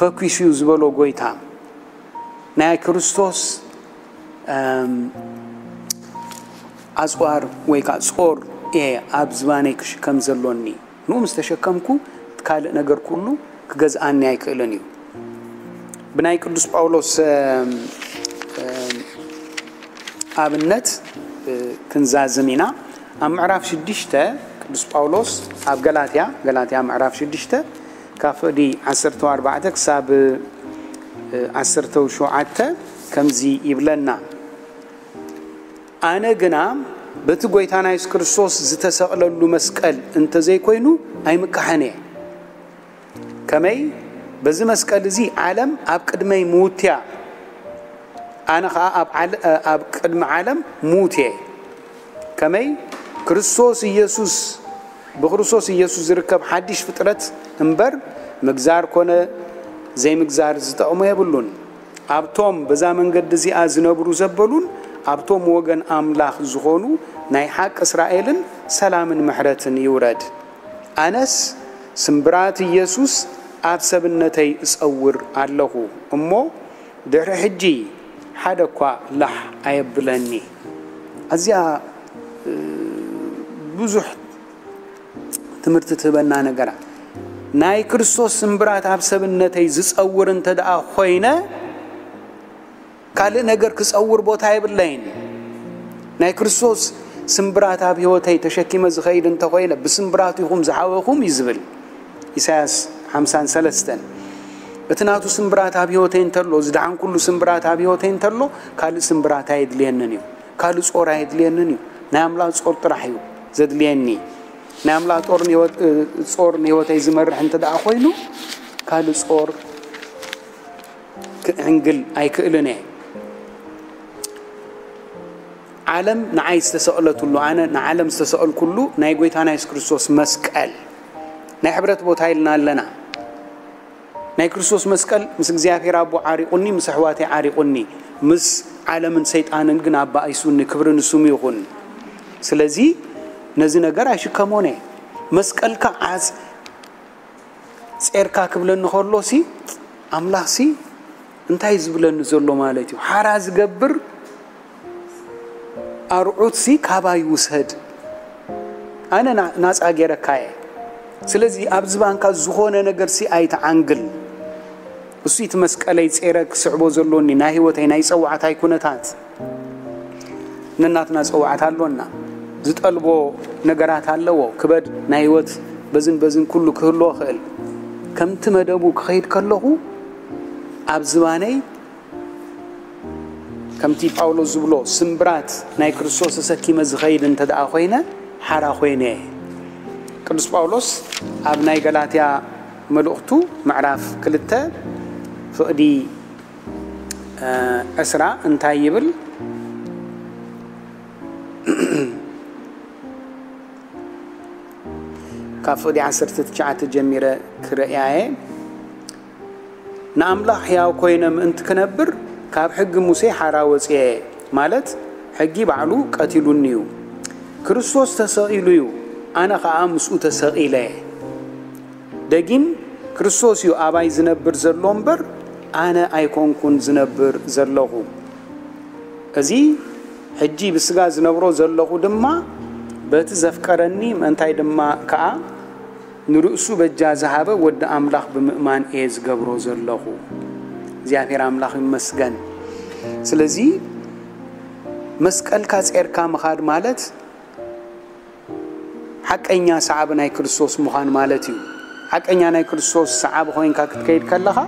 ፈኪሱ እዩ ዝበሎ ጎይታ ናይ ክርስቶስ ኣፅዋር ወይ ከዓ ፆር እየ ኣብ ዝባነይ ክሽከም ዘሎኒ። ንኡ ምስ ተሸከምኩ ካልእ ነገር ኩሉ ክገዝኣኒ ኣይክእልን እዩ። ብናይ ቅዱስ ጳውሎስ ኣብነት ክንዛዝም ኢና። ኣብ ምዕራፍ ሽዱሽተ ቅዱስ ጳውሎስ ኣብ ገላትያ ገላትያ ምዕራፍ ሽዱሽተ ካብ ፍቕዲ ዓሰርተ ኣርባዕተ ክሳብ ዓሰርተ ሸውዓተ ከምዚ ይብለና። ኣነ ግና በቲ ጎይታና የሱስ ክርስቶስ ዝተሰቕለሉ መስቀል እንተዘይኮይኑ ኣይምካሕን እየ። ከመይ በዚ መስቀል እዚ ዓለም ኣብ ቅድመይ ምውትያ ኣነ ኸዓ ኣብ ቅድሚ ዓለም ምዉት እየ። ከመይ ክርስቶስ ኢየሱስ ብክርስቶስ ኢየሱስ ዝርከብ ሓድሽ ፍጥረት እምበር ምግዛር ኮነ ዘይምግዛር ዝጠቕሞ የብሉን። ኣብቶም በዛ መንገዲ እዚኣ ዝነብሩ ዘበሉን ኣብቶም ወገን ኣምላኽ ዝኾኑ ናይ ሓቂ እስራኤልን ሰላምን ምሕረትን ይውረድ። ኣነስ ስምብራት ኢየሱስ ኣብ ሰብነተይ እጸውር ኣለኹ እሞ ድሕሪ ሕጂ ሓደ እኳ ላሕ ኣየብለኒ። ኣዝያ ብዙሕ ትምህርቲ ትህበና ነገራ ናይ ክርስቶስ ስምብራት ኣብ ሰብነተይ ዝጸውር እንተ ደኣ ኮይነ ካልእ ነገር ክጸውር ቦታ የብለይን። ናይ ክርስቶስ ስምብራት ኣብ ህይወተይ ተሸኪመ ዝኸይድ እንተኾይነ ብስምብራቱ ኢኹም ዝዓበኹም እዩ ዝብል ኢሳያስ ሓምሳን ሰለስተን። እቲ ናቱ ስምብራት ኣብ ህይወተይ እንተሎ ዝደሓንኩሉ ስምብራት ኣብ ህይወተይ እንተሎ ካልእ ስምብራት ኣየድልየንን እዩ። ካልእ ጾር ኣየድልየንን እዩ። ናይ ኣምላኽ ጾር ጥራሕ እዩ ዘድልየኒ። ናይ ኣምላኽ ጦር ጾር ንህይወተይ ዝመርሕ እንተ ደኣ ኮይኑ ካልእ ጾር ክዕንግል ኣይክእልን እየ። ዓለም ንዓይ ዝተሰቕለትሉ ኣነ ንዓለም ዝተሰቐልኩሉ ናይ ጎይታና የሱስ ክርስቶስ መስቀል ናይ ሕብረት ቦታ ኢልና ኣለና። ናይ ክርስቶስ መስቀል ምስ እግዚኣብሔር ኣቦ ዓሪቑኒ፣ ምስ ኣሕዋተይ ዓሪቑኒ፣ ምስ ዓለምን ሰይጣንን ግን ኣባኢሱኒ። ክብሪ ንስሙ ይኹን። ስለዚ ነዚ ነገር ኣይሽከሞን እየ። መስቀልካ ዓጽ ጼርካ ክብለኒ ከሎሲ ኣምላኽሲ እንታይ ዝብለኒ ዘሎ ማለት እዩ? ሓራ ዝገብር ኣርዑትሲ ካባይ ውሰድ፣ ኣነ ናጻ ገይረካ እየ። ስለዚ ኣብ ዝባንካ ዝኾነ ነገርሲ ኣይትዓንግል። እሱ እቲ መስቀለይ ጼረ ክስዕቦ ዘሎኒ ናይ ህይወተይ ናይ ጸዋዕታይ ኩነታት። ነናትና ጸዋዕታ ኣሎና። ዝጠልቦ ነገራት ኣለዎ። ክበድ ናይ ህይወት በዝን በዝን ኩሉ ክህልዎ ይኽእል። ከምቲ መደቡ ክኸይድ ከለኹ ኣብ ዝባነይ ከምቲ ጳውሎስ ዝብሎ ስምብራት ናይ ክርስቶስ ተሰኪመ ዝኸይድ እንተ ደኣ ኮይነ ሓራ ኮይነ እየ። ቅዱስ ጳውሎስ ኣብ ናይ ገላትያ መልእኽቱ ምዕራፍ ክልተ ፍቕዲ ዕስራ እንታይ ይብል? ካብ ፍቕዲ ዓሰርተ ትሽዓተ ጀሚረ ክርእያ እየ። ንኣምላኽ ሕያው ኮይነ ምእንቲ ክነብር ካብ ሕጊ ሙሴ ሓራ ወፅየ፣ ማለት ሕጊ ባዕሉ ቀቲሉኒ እዩ። ክርስቶስ ተሰቒሉ እዩ፣ ኣነ ኸዓ ምስኡ ተሰቒለ። ደጊም ክርስቶስ እዩ ኣባይ ዝነብር ዘሎ እምበር ኣነ ኣይኮንኩን ዝነብር ዘለኹ። እዚ ሕጂ ብስጋ ዝነብሮ ዘለኹ ድማ በቲ ዘፍቀረኒ፣ ምእንታይ ድማ ከኣ ንርእሱ በጃ ዝሃበ ወዲ ኣምላኽ ብምእማን እየ ዝገብሮ ዘለኹ። እግዚኣብሔር ኣምላኽ ይመስገን። ስለዚ መስቀልካ ጼርካ ምኻድ ማለት ሓቀኛ ሰዓቢ ናይ ክርስቶስ ምዃን ማለት እዩ። ሓቀኛ ናይ ክርስቶስ ሰዓቢ ኮይንካ ክትከይድ ከለኻ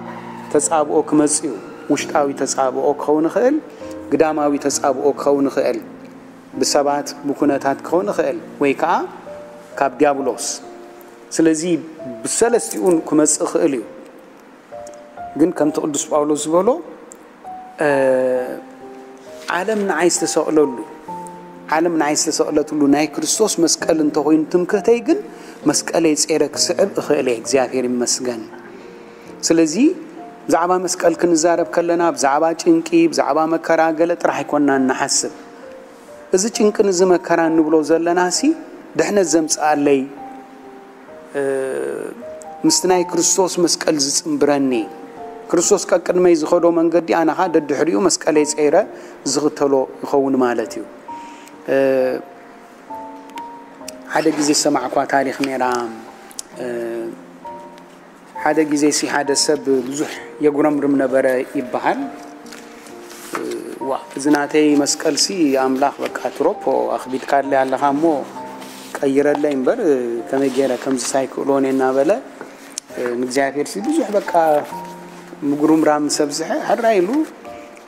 ተጻብኦ ክመጽእ እዩ። ውሽጣዊ ተጻብኦ ክኸውን ይኽእል፣ ግዳማዊ ተጻብኦ ክኸውን ይኽእል፣ ብሰባት ብኩነታት ክኸውን ይኽእል፣ ወይ ከዓ ካብ ዲያብሎስ። ስለዚ ብሰለስቲኡን ክመጽእ ይኽእል እዩ። ግን ከምቲ ቅዱስ ጳውሎስ ዝበሎ ዓለም ንዓይ ዝተሰቕለሉ፣ ዓለም ንዓይ ዝተሰቕለትሉ ናይ ክርስቶስ መስቀል እንተኾይኑ ትምክህተይ፣ ግን መስቀለይ ጼረ ክስዕብ እኽእል እየ። እግዚኣብሔር ይመስገን። ስለዚ ብዛዕባ መስቀል ክንዛረብ ከለና ብዛዕባ ጭንቂ፣ ብዛዕባ መከራ ገለ ጥራሕ ኣይኮንና እንሓስብ። እዚ ጭንቅን እዚ መከራን ንብሎ ዘለናሲ ድሕነት ዘምጽኣለይ ምስቲ ናይ ክርስቶስ መስቀል ዝጽንብረኒ፣ ክርስቶስ ቀቅድመይ ዝኸዶ መንገዲ ኣነ ኸኣ ደድሕሪኡ መስቀለይ ጸይረ ዝኽተሎ ይኸውን ማለት እዩ። ሓደ ግዜ ዝሰማዕኳ ታሪኽ ነይራ። ሓደ ግዜ ሲ ሓደ ሰብ ብዙሕ የጉረምርም ነበረ ይበሃል። ዋ፣ እዚ ናተይ መስቀልሲ ኣምላኽ በቃ ትሮፖ ኣኽቢድካለይ ኣለኻ እሞ ቀይረለይ እምበር ከመይ ገይረ ከምዚ ሳይክእሎን እናበለ ንእግዚኣብሔር ሲ ብዙሕ በቃ ምጉርምራም ምስ ኣብዝሐ ሕራይ ኢሉ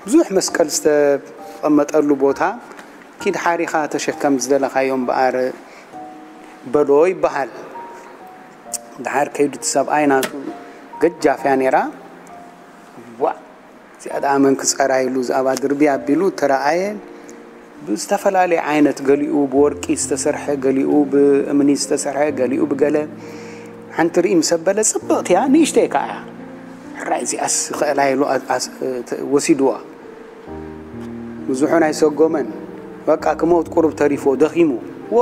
ብዙሕ መስቀል ዝተቐመጠሉ ቦታ ኪድ ሓሪኻ ተሸከም ዝደለኻዮ እምበኣር በሎ ይበሃል። ደሓር ከይዱ እቲ ሰብኣይ ናቱ ገጃፍ እያ ነይራ። ዋ፣ እዚኣ ደኣ መን ክጸራ ኢሉ ዝኣባ ድርቢ ኣቢሉ ተረኣየ። ብዝተፈላለየ ዓይነት፣ ገሊኡ ብወርቂ ዝተሰርሐ፣ ገሊኡ ብእምኒ ዝተሰርሐ፣ ገሊኡ ብገለ። ሓንቲ ርኢ ምስ ኣበለ ጽብቕቲ እያ፣ ንእሽተይ ከኣ እያ። ሕራይ እዚኣስ ይኽእላ ኢሉ ኣስ-፣ ኣስ-፣ ተ-፣ ወሲድዋ። ብዙሑን ኣይሰጎመን። በቃ ክመውት ቁሩብ ተሪፎ፣ ደኺሙ። ዎ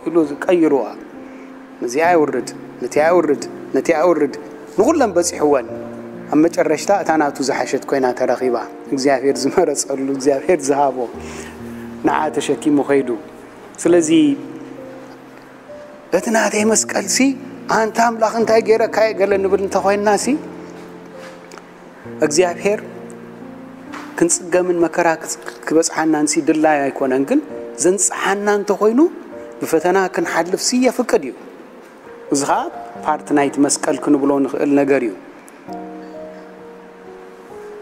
ኢሉ ቀይርዋ። ነዚኣ የውርድ፣ ነቲኣ የውርድ፣ ነቲኣ የውርድ። ንኹለን በጺሕወን። ኣብ መጨረሽታ እታ ናቱ ዝሓሸት ኮይና ተረኺባ። እግዚኣብሔር ዝመረጸሉ፣ እግዚኣብሔር ዝሃቦ ንዓ ተሸኪሙ ኸይዱ። ስለዚ እቲ ናተይ መስቀልሲ ኣንታ ኣምላኽ እንታይ ገይረካየ ገለ ንብል እንተኾይንናሲ እግዚኣብሔር ክንጽገምን መከራ ክጽ-፣ ክበጽሓናንሲ ድላይ ኣይኮነን። ግን ዘንጽሓና እንተኾይኑ ብፈተና ክንሓልፍሲ የፍቅድ እዩ። እዚ ኸኣ ፓርት ናይቲ መስቀል ክንብሎ ንኽእል ነገር እዩ።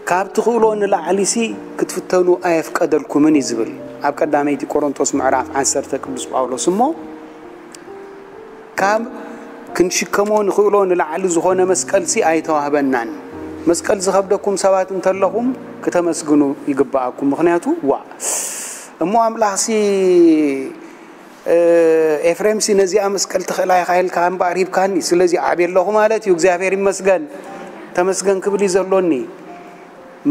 ካብ ትኽእሎ ንላዕሊሲ ክትፍተኑ ኣየፍቀደልኩምን እዩ ዝብል ኣብ ቀዳመይቲ ቆሮንቶስ ምዕራፍ ዓሰርተ ቅዱስ ጳውሎስ። እሞ ካብ ክንሽከሞ ንኽእሎ ንላዕሊ ዝኾነ መስቀልሲ ኣይተዋህበናን። መስቀል ዝኸብደኩም ሰባት እንተለኹም ክተመስግኑ ይግብኣኩም። ምኽንያቱ ዋ እሞ ኣምላኽሲ ኤፍሬምሲ ነዚኣ መስቀል ትኽእላ ኢኻ ኢልካ እምበኣር ሂብካኒ፣ ስለዚ ዓብየ ኣለኹ ማለት እዩ። እግዚኣብሔር ይመስገን፣ ተመስገን ክብል እዩ ዘሎኒ።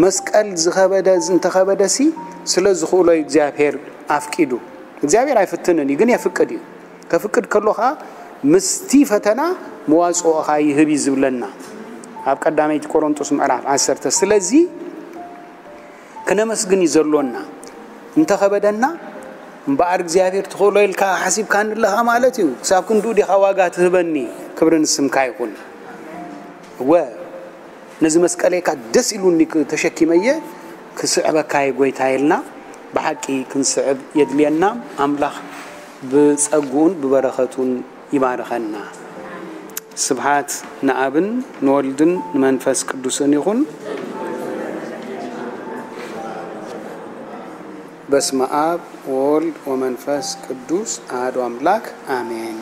መስቀል ዝኸበደ፣ እንተኸበደሲ ስለ ዝኽእሎ እዩ እግዚኣብሔር ኣፍቂዱ። እግዚኣብሔር ኣይፍትንን እዩ፣ ግን የፍቅድ እዩ። ከፍቅድ ከሎ ኸዓ ምስቲ ፈተና መዋፅኦ ኸዓ ይህብ እዩ ዝብለና ኣብ ቀዳመይቲ ቆሮንጦስ ምዕራፍ ዓሰርተ። ስለዚ ክነመስግን እዩ ዘሎና። እንተኸበደና እምበኣር እግዚኣብሔር ትኽእሎ ኢልካ ሓሲብካኒ ኣለኻ ማለት እዩ። ክሳብ ክንድኡ ዲኻ ዋጋ ትህበኒ? ክብሪ ንስምካ ይኹን። እወ፣ ነዚ መስቀለይካ ደስ ኢሉኒ ተሸኪመየ ክስዕበካየ ጎይታ የልና። ብሓቂ ክንስዕብ የድልየና። ኣምላኽ ብጸግኡን ብበረኸቱን ይባርኸና። ስብሓት ንኣብን ንወልድን ንመንፈስ ቅዱስን ይኹን። በስመ ኣብ ወወልድ ወመንፈስ ቅዱስ ኣሐዱ ኣምላክ ኣሜን።